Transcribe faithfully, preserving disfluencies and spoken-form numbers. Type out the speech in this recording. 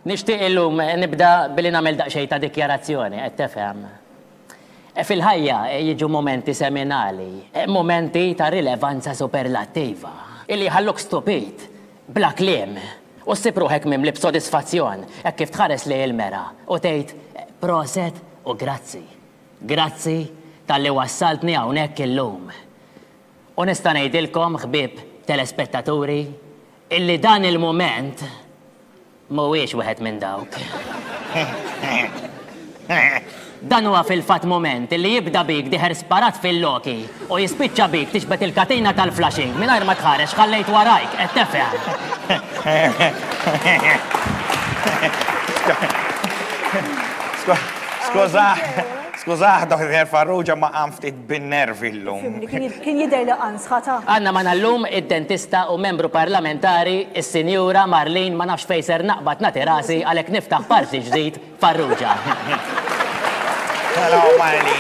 Nixtieq illum nibda billi nagħmel daqsxejn ta' dikjarazzjoni, qed tifhem. Fil-ħajja jiġu momenti seminali, momenti ta' rilevanza superlattiva, illi jħalluk stupit, bla kliem, u ssib ruħek mimli b'sodisfazzjon hekk kif tħares lejn il-mera u tgħid proset u grazzi. Grazzi talli wassaltni hawnhekk illum. U nista' ngħidilkom, ħbieb telespettaturi, illi dan il-mument mhuwiex wieħed minn dawk. Dan huwa fil-fatt moment illi jibda bik dieher sparat fil-loki u jispiċċa bik tixbet il-katina tal-flushing mingħajr ma tħarex ħallejt warajk, qed tifhem. Skużah, skużah, Doktor Farrugia, ma qam ftit bin-nervi llum. Fimni, kien jidher li qansħata. Għandna magħna llum id-dentista u membru parlamentari, is-Sinjura Marlene, ma nafx fejn ser naqbad nagħti rasi għalhekk niftaħ parti ġdid Farrugia. Hello, Marlene.